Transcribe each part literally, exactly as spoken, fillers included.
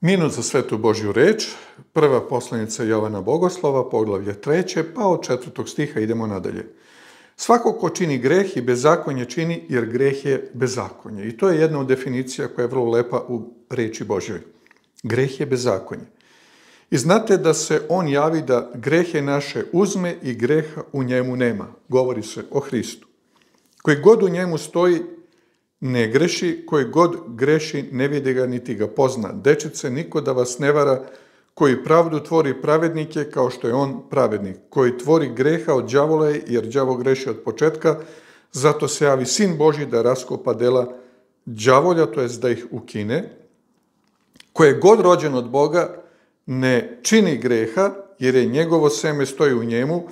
Minut za svetu Božju reč, prva poslanica Jovana Bogoslova, poglavlje treće, pa od četvrtog stiha idemo nadalje. Svako ko čini greh i bezakonje čini, jer greh je bezakonje. I to je jedna od definicija koja je vrlo lepa u reči Božjoj. Greh je bezakonje. I znate da se on javi da grehe naše uzme i greha u njemu nema. Govori se o Hristu. Koji god u njemu stoji, ne greši, koji god greši, ne vidi ga niti ga pozna. Dečice, niko da vas ne vara, koji pravdu tvori pravednike kao što je on pravednik, koji tvori greha od đavola je, jer đavo greši od početka, zato se javi Sin Božji da raskopa dela đavolja, to jest da ih ukine, koji je god rođen od Boga, ne čini greha, jer je njegovo seme stoji u njemu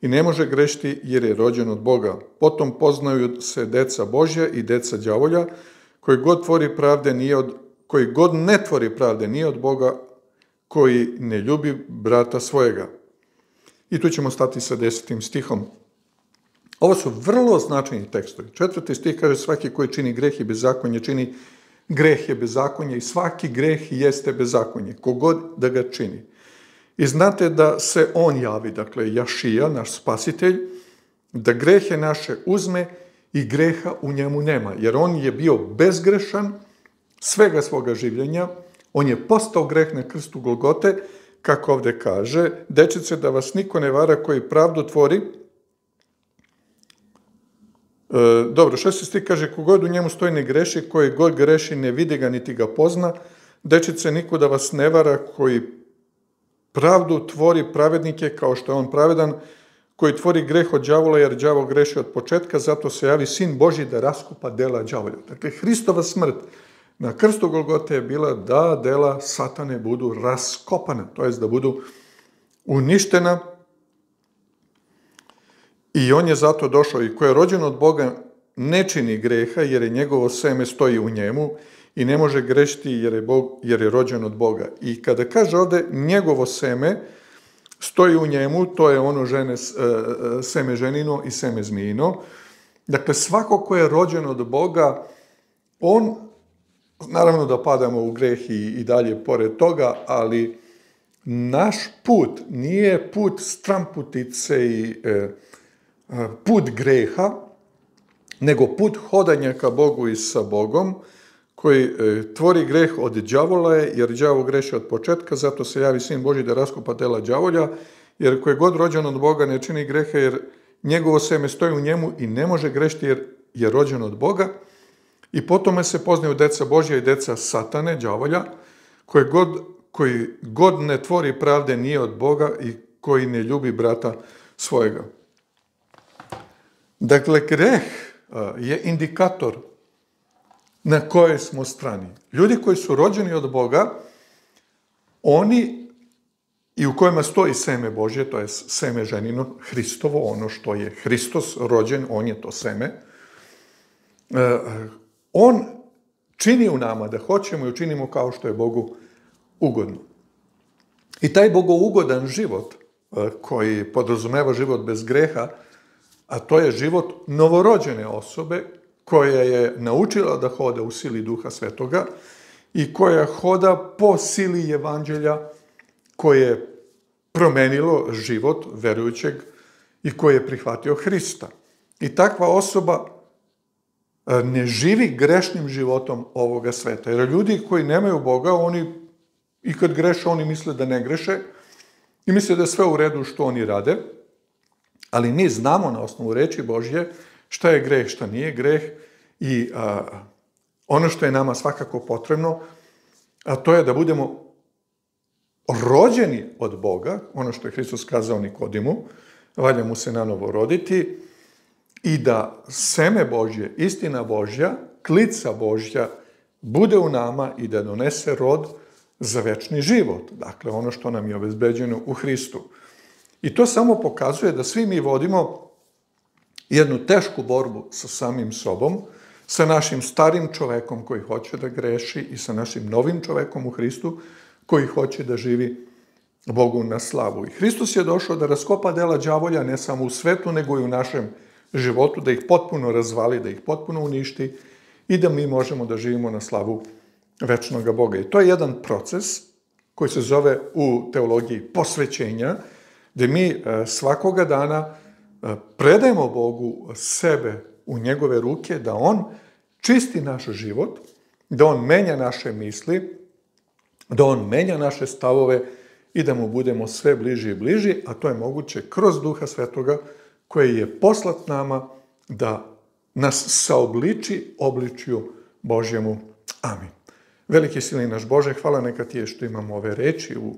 i ne može grešiti jer je rođen od Boga. Potom poznaju se deca Božja i deca đavolja, koji god tvori pravde nije od, koji god ne tvori pravde nije od Boga, koji ne ljubi brata svojega. I tu ćemo stati sa desetim stihom. Ovo su vrlo značajni tekstovi. Četvrti stih kaže svaki koji čini greh i bezakonje čini greh je bezakonje i svaki greh jeste bezakonje, kogod da ga čini. I znate da se on javi, dakle Jašija, naš spasitelj, da grehe naše uzme i greha u njemu nema, jer on je bio bezgrešan svega svoga življenja, on je postao greh na krstu Golgote, kako ovde kaže, dečice, da vas niko ne vara koji pravdu tvori. E, dobro, šesti stih kaže, kogod u njemu stoji ne greši, koji god greši ne vidi ga niti ga pozna. Dečice, niko da vas ne vara koji pravdu tvori pravednike kao što je on pravedan, koji tvori greh od đavola, jer đavo greši od početka, zato se javi Sin Božji da raskupa dela đavolja. Dakle, Hristova smrt na krstu Golgote je bila da dela satane budu raskopana, to jest da budu uništena. I on je zato došao i ko je rođen od Boga ne čini greha, jer je njegovo seme stoji u njemu i ne može grešiti jer je, Bog, jer je rođen od Boga. I kada kaže ovde njegovo seme stoji u njemu, to je ono žene, seme ženino i seme zmijino. Dakle, svako ko je rođen od Boga, on, naravno da padamo u greh i, i dalje pored toga, ali naš put nije put stramputice i e, put greha, nego put hodanja ka Bogu i sa Bogom, koji e, tvori greh od đavola je, jer đavo greši od početka, zato se javi Sin Božji da raskupa dela đavolja, jer koji god rođen od Boga ne čini greha, jer njegovo seme stoji u njemu i ne može grešiti jer je rođen od Boga. I potom se poznaju deca Božja i deca satane, đavolja, koji god, koji god ne tvori pravde nije od Boga i koji ne ljubi brata svojega. Dakle, greh je indikator na kojoj smo strani. Ljudi koji su rođeni od Boga, oni i u kojima stoji seme Božje, to je seme ženino, Hristovo, ono što je Hristos rođen, on je to seme, on čini u nama da hoćemo i učinimo kao što je Bogu ugodno. I taj bogougodan život, koji podrazumeva život bez greha, a to je život novorođene osobe, koja je naučila da hoda u sili Duha Svetoga i koja hoda po sili Evanđelja, koje je promenilo život verujućeg i koji je prihvatio Hrista. I takva osoba ne živi grešnim životom ovoga sveta. Jer ljudi koji nemaju Boga, oni i kad greše, oni misle da ne greše i misle da je sve u redu što oni rade, ali mi znamo na osnovu reči Božje šta je greh, šta nije greh i a, ono što je nama svakako potrebno, a to je da budemo rođeni od Boga, ono što je Hristos kazao Nikodimu, valja mu se nanovo roditi i da seme Božje, istina Božja, klica Božja bude u nama i da donese rod za večni život. Dakle, ono što nam je obezbeđeno u Hristu. I to samo pokazuje da svi mi vodimo jednu tešku borbu sa samim sobom, sa našim starim čovekom koji hoće da greši i sa našim novim čovekom u Hristu koji hoće da živi Bogu na slavu. I Hristos je došao da raskopa dela đavolja ne samo u svetu, nego i u našem životu, da ih potpuno razvali, da ih potpuno uništi i da mi možemo da živimo na slavu večnog Boga. I to je jedan proces koji se zove u teologiji posvećenja, gdje mi svakoga dana predajemo Bogu sebe u njegove ruke, da on čisti naš život, da on menja naše misli, da on menja naše stavove i da mu budemo sve bliži i bliži, a to je moguće kroz Duha Svetoga koji je poslat nama da nas saobliči obličju Božjemu. Amin. Veliki silni naš Bože, hvala neka ti je što imamo ove reči u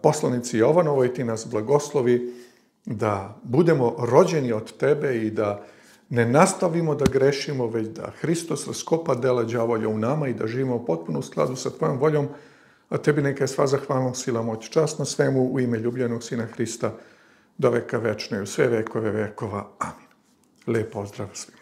poslanici Jovanovoj, ti nas blagoslovi da budemo rođeni od tebe i da ne nastavimo da grešimo, već da Hristos raskopa dela đavolja u nama i da živimo potpuno u skladu sa tvojom voljom, a tebi neka je sva zahvalnost, sila, moć, čast na svemu u ime ljubljenog Sina Hrista do veka večne, u sve vekove vekova. Amin. Lijep pozdrav svima.